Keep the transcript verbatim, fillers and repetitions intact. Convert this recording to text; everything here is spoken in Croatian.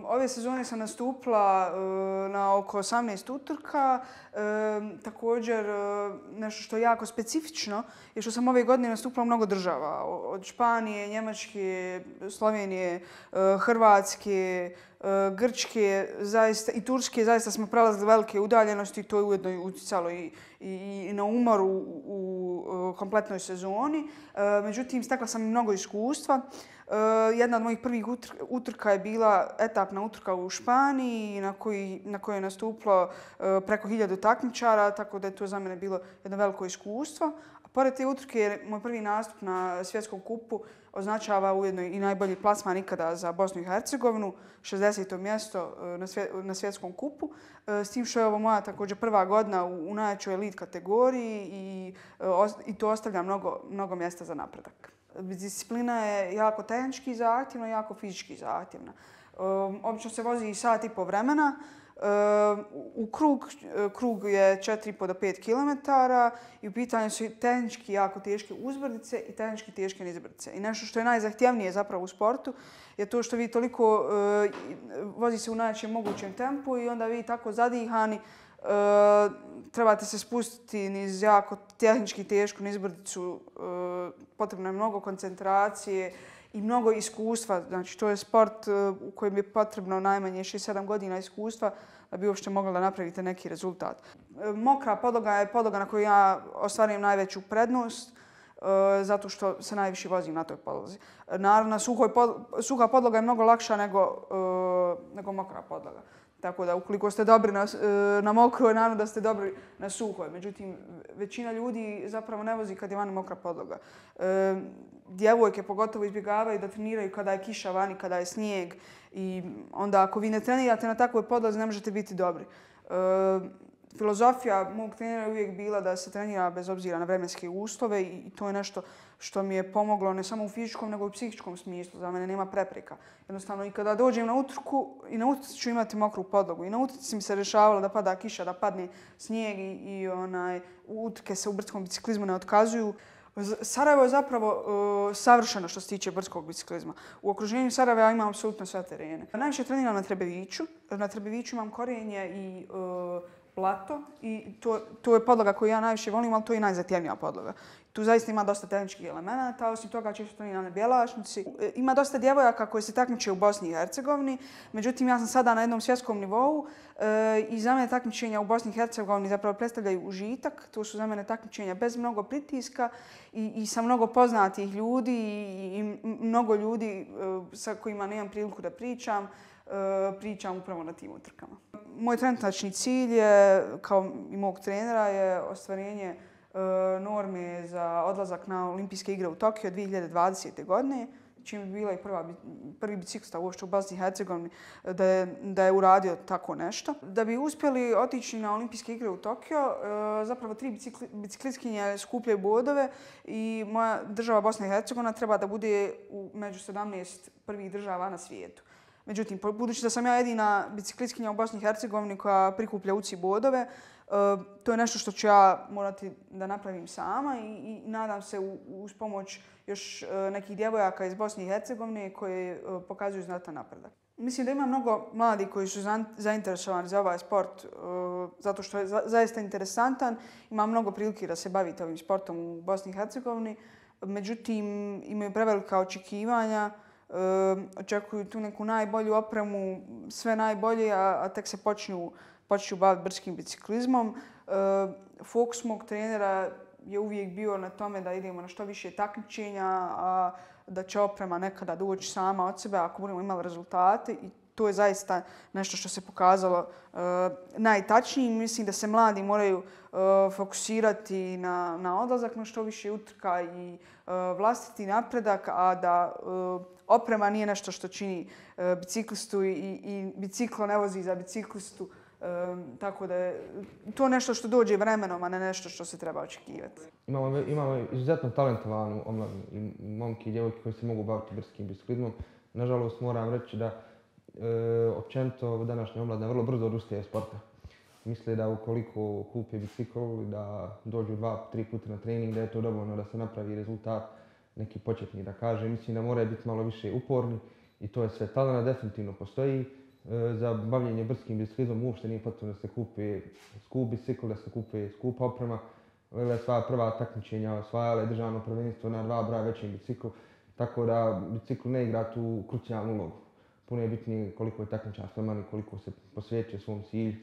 ove sezone sam nastupila na oko osamnaest utrka. Također, nešto što je jako specifično je što sam ove godine nastupila u mnogo država. Od Španije, Njemačke, Slovenije, Hrvatske, Grčke zaista, i Turske. Zaista smo prelazili velike udaljenosti i to je ujedno utjecalo i, i, i na umor u, u kompletnoj sezoni. Međutim, stekla sam i mnogo iskustva. Jedna od mojih prvih utrka je bila etapna utrka u Španiji na, koji, na kojoj je nastupilo preko hiljadu takmičara, tako da je to za mene bilo jedno veliko iskustvo. A pored te utrke, moj prvi nastup na svjetskom kupu označava ujedno i najbolji plasman ikada za Bosnu i Hercegovinu, šezdeseto mjesto na, svje, na svjetskom kupu. S tim što je ovo moja također prva godina u, u najjačoj elit kategoriji i, i to ostavlja mnogo, mnogo mjesta za napredak. Disciplina je jako tehnički zahtjevna, jako fizički zahtjevna. Um, obično se vozi sat i po vremena. Um, u krug, krug je četiri i po do pet kilometara i u pitanju su tehnički jako teške uzbrdice i tehnički teške nizbrdice. I nešto što je najzahtjevnije zapravo u sportu je to što vi toliko uh, vozi se u najjačem mogućem tempu i onda vi tako zadihani Uh, trebate se spustiti niz jako tehnički tešku nizbrdicu, uh, potrebno je mnogo koncentracije i mnogo iskustva. Znači, to je sport uh, u kojem je potrebno najmanje šest sedam godina iskustva da bi uopšte mogli da napravite neki rezultat. Uh, mokra podloga je podloga na kojoj ja ostvarujem najveću prednost, uh, zato što se najviše vozim na toj podlozi. Uh, naravno, suhoj pod, suha podloga je mnogo lakša nego, uh, nego mokra podloga. Tako da ukoliko ste dobri na, na mokroj, naravno da ste dobri na suhoj. Međutim, većina ljudi zapravo ne vozi kad je vani mokra podloga. E, djevojke pogotovo izbjegavaju da treniraju kada je kiša vani, kada je snijeg. I onda ako vi ne trenirate na takvoj podlozi, ne možete biti dobri. E, filozofija mog trenera je uvijek bila da se trenira bez obzira na vremenske uslove i to je nešto što mi je pomoglo ne samo u fizičkom nego i u psihičkom smislu. Za mene nema prepreka. Jednostavno i kada dođem na utrku i na utrci ću imati mokru podlogu. I na utrci mi se rešavalo da pada kiša, da padne snijeg i, i onaj, utrke se u brdskom biciklizmu ne otkazuju. Sarajevo je zapravo uh, savršeno što se tiče brdskog biciklizma. U okruženju Sarajeva ja imam apsolutno sve terene. Najviše treniram na Trebeviću. Na Trebeviću imam korijenje i uh, plato i to, to je podloga koju ja najviše volim, ali to je i najzahtjevnija podloga. Tu zaista ima dosta tehničkih elemenata, osim toga često treniram na Bjelašnici. Ima dosta djevojaka koje se takmiče u Bosni i Hercegovini, međutim ja sam sada na jednom svjetskom nivou e, i za mene takmičenja u Bosni i Hercegovini zapravo predstavljaju užitak. To su za mene takmičenja bez mnogo pritiska i, i sa mnogo poznatih ljudi i, i mnogo ljudi e, sa kojima nemam priliku da pričam. pričam upravo na tim utrkama. Moj trenutačni cilj je, kao i mog trenera, je ostvarenje norme za odlazak na Olimpijske igre u Tokio dvije hiljade dvadesete. godine, čim bi bila i prva, prvi biciklista uopšte u Bosni i Hercegovini da je, da je uradio tako nešto. Da bi uspjeli otići na Olimpijske igre u Tokio, zapravo tri bicikli, biciklistkinje skupljaju bodove i moja država Bosna i Hercegovina treba da bude u među sedamnaest prvih država na svijetu. Međutim, budući da sam ja jedina biciklistkinja u Bosni i Hercegovini koja prikuplja U C I bodove, to je nešto što ću ja morati da napravim sama i, i nadam se uz pomoć još nekih djevojaka iz Bosne i Hercegovine koje pokazuju znatan napredak. Mislim da ima mnogo mladih koji su zainteresovani za ovaj sport zato što je zaista interesantan. Ima mnogo prilike da se bavite ovim sportom u Bosni i Hercegovini. Međutim, imaju prevelika očekivanja. Uh, očekuju tu neku najbolju opremu, sve najbolje, a, a tek se počnu, počnu baviti brdskim biciklizmom. Uh, fokus mog trenera je uvijek bio na tome da idemo na što više takmičenja, a da će oprema nekada doći sama od sebe ako budemo imali rezultate. I to je zaista nešto što se pokazalo uh, najtačnijim. Mislim da se mladi moraju uh, fokusirati na, na odlazak na što više utrka i uh, vlastiti napredak, a da uh, oprema nije nešto što čini uh, biciklistu i, i biciklo ne vozi za biciklistu. Um, tako da je to nešto što dođe vremenom, a ne nešto što se treba očekivati. Imamo, imamo izuzetno talentovanu omladinu i momke i djevojke koji se mogu baviti brdskim biciklizmom. Nažalost, moram reći da e, općenito današnja omladina vrlo brzo odustaje sporta. Misle da ukoliko kupe bicikl i da dođu dva, tri puta na trening, da je to dovoljno da se napravi rezultat neki početni, da kaže. Mislim da moraju biti malo više uporni i to je sve. Talent definitivno postoji. za bavljenje brskim biciklizmom uopšte nije potrebno da se kupi skup bicikl, da se kupi skupa oprema. Lele sva prva takmičenja osvajala je državno prvenstvo na dva broja većim biciklu, tako da bicikl ne igra tu krucijalnu ulogu. Puno je bitnije koliko je takmičar spreman i koliko se posvećuje svom cilju.